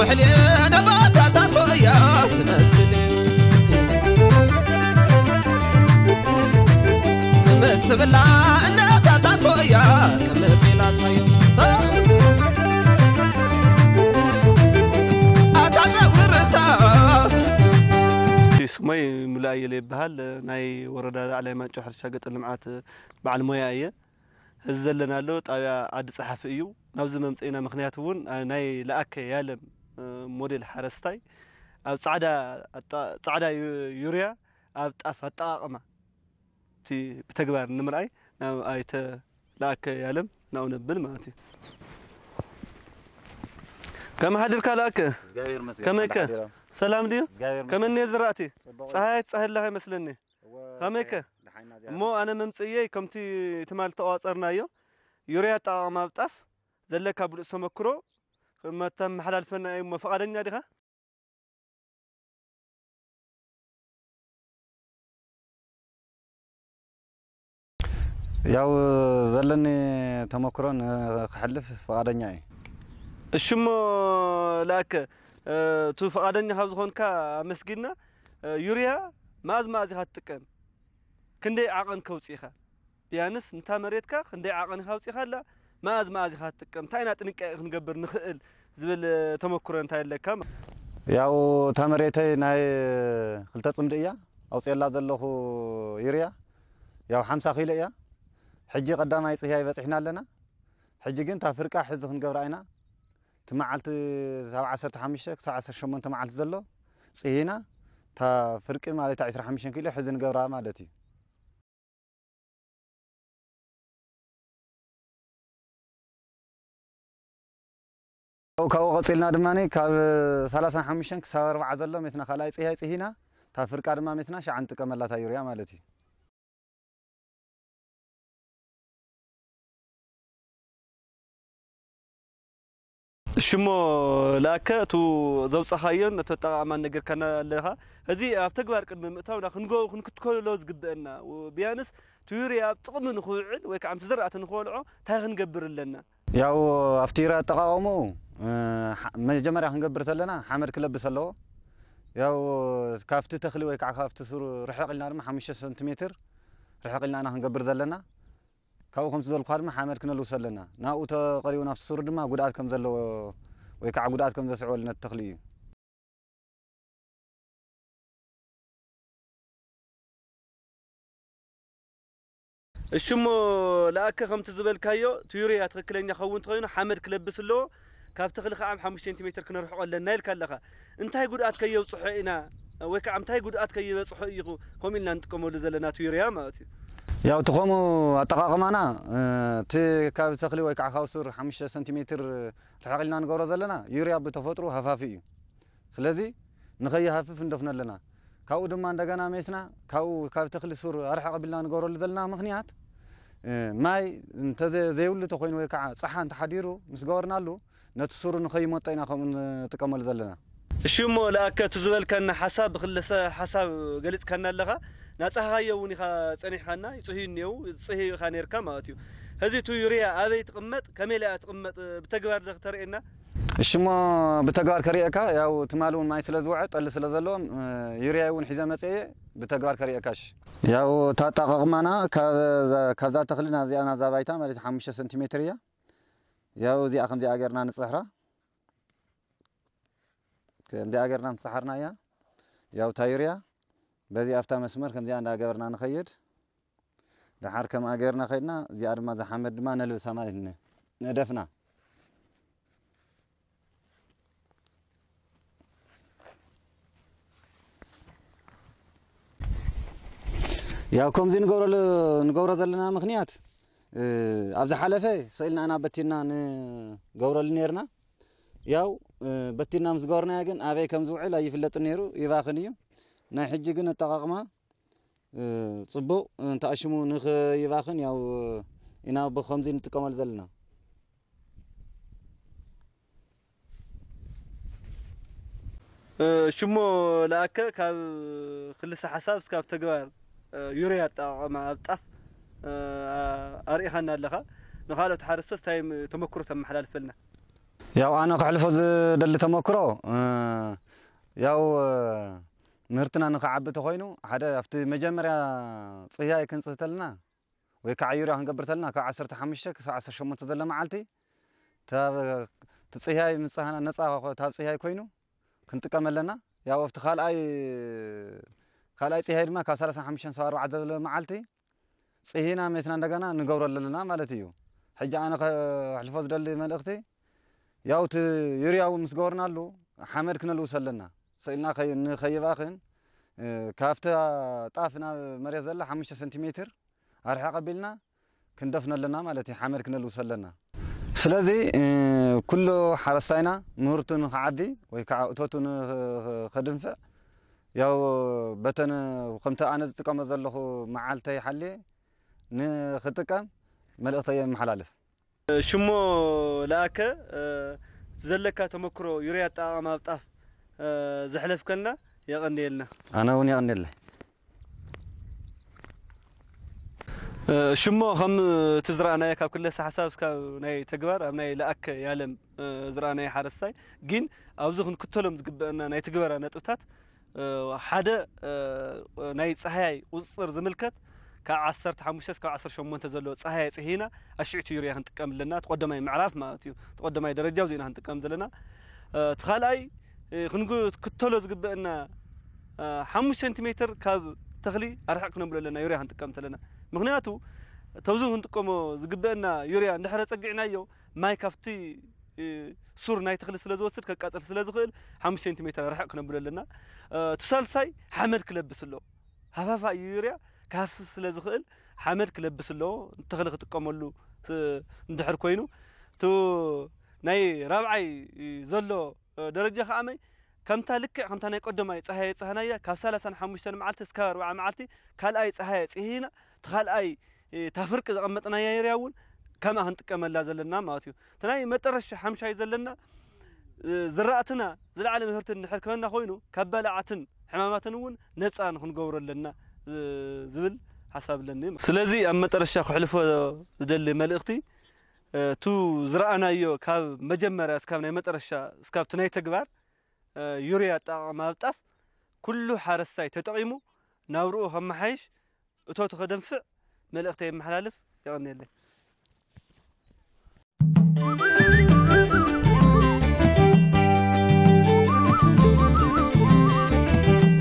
ሕልየ ነባታታ ኮያ ትመስል። ምስ ትብላ እነታታ ኮያ ቅምጥ ኢላታዮ። ኣታ ጸጉሪ ርእሳ። ስሞይ ሙሉ ኣየለ ይበሃል። ናይ ወረዳ ላዕላይ ማንጮ ሕርሻ ገጠር ልምዓት በዓል ሞያ እየ። እዚ ዘለናሎ ጣብያ ዓዲ ጸሓፊ እዩ። ናብዚ መምጽኢና ምኽንያት እውን፣ ኣ፣ ናይ ለኣከ ያለም፣ እ፣ ሞዴል ሓረስታይ ኣብ ጻዕዳ ኣጣ-፣ ጻዕዳ ዩ-፣ ዩርያ ኣብ ጣፍ ኣጠቓቕማ እቲ ብተግባር ንምርኣይ ናብ ኣይተ ለኣከ ያለም ናብኡ ነብል ማለት እዩ። ከመይ ሓዲርካ ለኣከ? እግዚኣብሔር ይመስገን። ከመይከ? ሓዲራ። ሰላም ድዩ? እግዚኣብሔር ይመስገን። ከመይ እኒኦ ዝራእቲ? ጽቡቕ እዩ። ጸሃይ ትጸህለኻ ይመስለኒ። እወ፣ ከመይከ? ደሓና እዚኣ። እሞ ኣነ መምጽእየይ ከምቲ ትማል ተቋጸርናዮ፣ ዩርያ ኣጠቓቕማ ኣብ ጣፍ ዘለካ ብሉጽ ተመክሮ መተመሓላልፈና እዩ እሞ፣ ፈቓደኛ ዲኻ? ያው ዘለኒ ተመክሮ ንክሕልፍ ፍቓደኛ እየ። እሺ እሞ ለኣከ፣ እ፣ እቱ ፍቓደኛ ካብ ዝኾንካ ኣመስጊንና። እ፣ ዩርያ መኣዝ መኣዝ ኢኻ ትጥቀም? ክንደይ ዓቐን ከውፅኢኻ? ቢያንስ ንታ መሬትካ ክንደይ ዓቐን ኢኻ ኣውፂኻላ? መኣዝ መኣዝ ኢኻ ትጥቀም? እንታይ ኢና ጥንቃቄ ክንገብር ንኽእል ዝብል፣ እ፣ ተመክሮ እንታይ ኣለካ? ያው እታ መሬተይ ናይ ክልተ ጽምዲ እያ ኣውፅኤላ ዘለኹ ዩርያ። ያው ሓምሳ ኪሎ እያ። ሕጂ ቀዳማይ ጽህያይ በጺሕና ኣለና። ሕጂ ግን እታ ፍርቃ ሕዚ ክንገብራ ኢና። እቲ መዓልቲ ካብ ዓሰርተ ሓሙሽተ ክሳብ ዓሰርተ ሸሞንተ መዓልቲ ዘሎ ጽሂና፣ እታ ፍርቂ ማለት ዕስራ ሓሙሽተ ኪሎ ሕዚ ንገብራ ማለት እዩ። ካብኡ ቀጺልና ድማ ካብ ሰላሳን ሓሙሽተን ክሳብ ኣርባዓ ዘሎ ሜትና ካልኣይ ጽህያይ ጽሂና፣ እታ ፍርቃ ድማ ሜትና ሸዓ ንጥቀመላ እታ ዩርያ ማለት እዩ። እሺ እሞ ለኣከ፣ እቱ ዘውጻኻዮን እቱ ኣጠቓቕማን ነገርካና ኣለኻ። እዚ ኣብ ተግባር ቅድሚ ምእታውና ክንጎ-፣ ክንክትከሎ ዝግበአና፣ ቢያንስ እቲ ዩርያ ኣብ ጥቕሚ ንኽውዕል ወይ ከዓ ምስ ዝራእቲ ንኽበልዖ እንታይ ክንገብር ኣለና? ያው ኣብቲ ዩርያ ኣጠቓቕምኡ፣ እ፣ ሓ-፣ መጀመርያ ክንገብር ተለና ሓመድ ክለብስ ኣለዎ። ያው ካብቲ ተኽሊ ወይ ከዓ ካብቲ ሱር ርሕቕ ኢልና ድማ ሓሙሽተ ሰንቲሜትር ርሕቕ ኢልና ኢና ክንገብር ዘለና። ካብኡ ከምቲ ዝበልኩኻ ድማ ሓመድ ክነልውሶ ኣለና። ናብኡ ተቐሪቡ ናብቲ ሱር ድማ ጉድኣት ከም ዘለዎ ወይ ከዓ ጉድኣት ከም ዘስዕበሉ ነቲ ተኽሊ እዩ። እሺ እሞ ለኣከ ከምቲ ዝበልካዮ እቲ ዩርያ ትኽክለኛ ክኸውን እንተኾይኑ ሓመድ ክለብስ ኣለዎ። ካብ ተኽሊ ከዓ ሓሙሽተ ሴንቲሜትር ክነርሕቆ ኣለና ኢልካ ኣለኻ። እንታይ ጉድኣት ከየብፅሖ ኢና ወይ ከዓ እንታይ ጉድኣት ከይበፅሖ እዩ ከምኡ ኢልና ንጥቀመሉ ዘለና እቲ ዩርያ ማለት እዩ? ያው እቲ ከምኡ ኣጠቓቕማና፣ እ፣ እቲ ካብ ተኽሊ ወይ ከዓ ካብ ሱር ሓሙሽተ ሰንቲሜትር ርሕቕ ኢልና ንገብሮ ዘለና ዩርያ ብተፈጥሮ ሃፋፊ እዩ። ስለዚ ንኸይሃፍፍ ንደፍኖ ኣለና። ካብኡ ድማ እንደገና ሜስና ካብኡ ካብ ተኽሊ ሱር ኣርሕቕ ኣቢልና ንገብረሉ ዘለና ምኽንያት፣ እ፣ ማይ እንተዘ-፣ ዘይብሉ ተኾይኑ ወይ ከዓ ጸሓ እንተሓዲሩ ምስ ገበርናሉ ነቲ ሱሩ ንኸይሞጦ ኢና ከምኡ ንጥቀመሉ ዘለና። እሺ እሞ ለኣከ እቲ ዝበልካና ሓሳብ ብክልሰ ሓሳብ ገሊጽካና ኣለኻ። ናጻኻዮ እውን ኢኻ ጸኒሕካና፣ ይጽህዩ እኒአው፣ ይጽህዩ ኢኻ ነርካ ማለት እዩ። ሕዚ እቲ ዩርያ ኣበይ ትቕመጥ፣ ከመይ ኢላ እያ ትቕመጥ፣ ብተግባር ዶ ክተርእየና? እሺ እሞ ብተግባር ከርእየካ፣ ያው ትማሊ እውን ማይ ስለ ዝወዐ ጠሊ ስለ ዘለዎም፣ እ፣ ዩርያ እውን ሒዘ መጽየ ብተግባር ከርእየካ። እሺ። ያው እታ ኣጠቓቕማና ካብ፣ ካብዛ ተኽሊ ናብዚኣ ናብዛ ባይታ ማለት ሓሙሽተ ሰንቲሜትር እያ። ያው እዚኣ ከምዚኣ ጌርና ንጽሕራ። ከምዚኣ ጌርና ምስ ጸሓርናያ፣ ያው እታ ዩርያ በዚ ኣብታ መስመር ከምዚኣ እንዳገበርና ንኸይድ። ደሓር ከምኣ ጌርና ከይድና፣ እዚኣ ድማ እዛ ሓመድ ድማ ነልብሳ ማለት ነ-፣ ነደፍና። ያው ከምዚ ንገብረሉ-፣ ንገብሮ ዘለና ምኽንያት፣ እ፣ ኣብ ዝሓለፈ ስኢልና ኢና በቲና ንገብረሉ ኔርና። ያው፣ እ፣ በቲና ምስ ገበርናዮ ግን ኣበይ ከም ዝውዕል ኣይፍለጥን ነይሩ፣ ይባኽን እዩ። ናይ ሕጂ ግን ኣጠቓቕማ፣ እ፣ ጽቡቕ እንተኣሽሙ ንኽይባኽን ያው ኢና ብኸምዚ ንጥቀመሉ ዘለና። እ፣ ሽሞ ለኣከ ካብ ክልሰ ሓሳብ እስካብ ተግባር፣ እ፣ ዩርያ ኣጠቓቕማ ኣብ ጣፍ፣ እ፣ ኣርኢኻና ኣለኻ። ንኻልኦት ሓረስቶት እንታይ ም-፣ ተመክሮ ተመሓላልፈልና? ያው ኣነ ክሕልፎ ዝደሊ ተመክሮ፣ እ፣ ያው፣ እ፣ ምህርትና ንኽዓቢ ተኾይኑ፣ ሓደ ኣብቲ መጀመርያ ጽህያይ ክንጽህ ተለና፣ ወይ ከዓ ዩርያ ክንገብር ተለና፣ ካብ ዓሰርተ ሓሙሽተ ክሳብ ዓሰርተ ሸሞንተ ዘሎ መዓልቲ፣ ታብ-፣ እቲ ጽህያይ ምጽሃና ነጻ ኮ-፣ ታብ ጽህያይ ኮይኑ ክንጥቀም ኣለና። ያው ኣብቲ ካልኣይ፣ ካልኣይ ጽህያይ ድማ ካብ ሰላሳ ሓሙሽተ ክሳብ ኣርባዕተ ዘሎ መዓልቲ፣ ጽሂና ሜትና እንደገና ንገብሮ ኣለና ማለት እዩ። ሕጂ ኣነ ከሕልፎ ዝደሊ መልእኽቲ፣ ያው እቲ ዩርያ እውን ምስ ገበርናሉ ሓመድ ክነልውሶ ኣለና። ስኢልና ከይ-፣ ንኸይባኽን፣ እ፣ ካብቲ ጣፍ ናብ መሬት ዘላ ሓሙሽተ ሰንቲሜትር ኣርሒቕ ኣቢልና ክንደፍኖ ኣለና ማለት እዩ። ሓመድ ክነልውሶ ኣለና። ስለዚ፣ እ፣ ኩሉ ሓረስታይና ምህርቱ ንኽዓቢ ወይ ከዓ እቶቱ ንኸ-፣ ከድንፍዕ፣ ያው በተን ከምቲ ኣነ ዝጥቀሞ ዘለኹ መዓልተይ ሓልየ ንኽጥቀም መልእኽተይ የመሓላልፍ። ሽሞ ለኣከ፣ እ፣ ዘለካ ተመክሮ ዩርያ ኣጠቓቕማ ኣብ ጣፍ፣ እ፣ ዘሕለፍከልና የቐንየልና። ኣነ እውን የቐንየለይ። እ፣ ሽሞ ከም እቲ ዝረኣናዮ ካብ ክለሰ ሓሳብ እስካብ ናይ ተግባር ኣብ ናይ ለኣከ ያለም፣ እ፣ ዝረኣናዮ ሓረስታይ ግን ኣብዚ ክንክተሎም ዝግበአና ናይ ትግበራ ነጥብታት፣ እ፣ ሓደ፣ እ፣ ናይ ጸሃያይ ቁጽጽር ዝምልከት ካብ ዓሰርተ ሓሙሽተ እስካብ ዓሰርተ ሸሞንተ ዘሎ ጸሃያይ ጽሂና ኣሽዕቲ ዩርያ ክንጥቀም ኣለና። እቲ ቀዳማይ ምዕራፍ ማለት እዩ። እቲ ቀዳማይ ደረጃ ዚና ክንጥቀም ዘለና። እ፣ እቲ ካልኣይ፣ እ፣ ክንክተሎ ዝግበአና፣ እ፣ ሓሙሽተ ሴንቲሜትር ካብ ተኽሊ ኣርሕቕ ክነብሎ ኣለና ዩርያ ክንጥቀም ተለና። ምኽንያቱ ተብዚ ክንጥቀሞ ዝግበአና ዩርያ እንድሕረ ጸጊዕናዮ ማይ ካብቲ፣ እ፣ ሱር ናይ ተኽሊ ስለ ዝወስድ ከቃጽል ስለ ዝኽእል ሓሙሽተ ሴንቲሜትር ርሕቕ ክነብሎ ኣለና። እ፣ እቲ ሳልሳይ ሓመድ ክለብስ ኣለዎ። ሃፋፋ እዩ ዩርያ ክሃፍፍ ስለ ዝኽእል ሓመድ ክለብስ ኣለዎ። ተኽሊ ክጥቀመሉ ት-፣ እንድሕር ኮይኑ፣ እቲ ናይ ራብዓይ ዘሎ፣ እ፣ ደረጃ ከኣ መይ ከምታ ልክዕ ከምታ ናይ ቀደማይ ጸሃየ ጸሃናያ ካብ ሰላሳን ሓሙሽተን መዓልቲ እስካብ ኣርብዓ መዓልቲ ካልኣይ ጸሃየ ጽሂና፣ እቲ ካልኣይ፣ እ፣ እታ ፍርቂ ዘቐመጥናያ ዩርያ እውን ከምኣ ክንጥቀመላ ዘለና ማለት እዩ። እቲ ናይ መጠረሻ ሓምሻይ ዘለና፣ እ፣ ዝራእትና ዝለዓለ ምህርቲ እንድሕር ክበና ኮይኑ ካብ ባልዓትን ሕማማትን እውን ነጻ ንክንገብሮ ኣለና፣ እ፣ ዝብል ሓሳብ ኣለኒ። ስለዚ ኣብ መጠረሻ ክሕልፎ ዝደሊ መልእኽቲ፣ እ፣ እቱ ዝረኣናዮ ካብ መጀመርያ እስካብ ናይ መጠረሻ እስካብ እቲ ናይ ተግባር፣ እ፣ ዩርያ ኣጠቓቕማ ኣብ ጣፍ ኩሉ ሓረስታይ ተጠቒሙ ናብርኡ ከመሓይሽ እቶቱ ከደንፍዕ መልእኽተይ የመሓላልፍ። የቐንየለይ።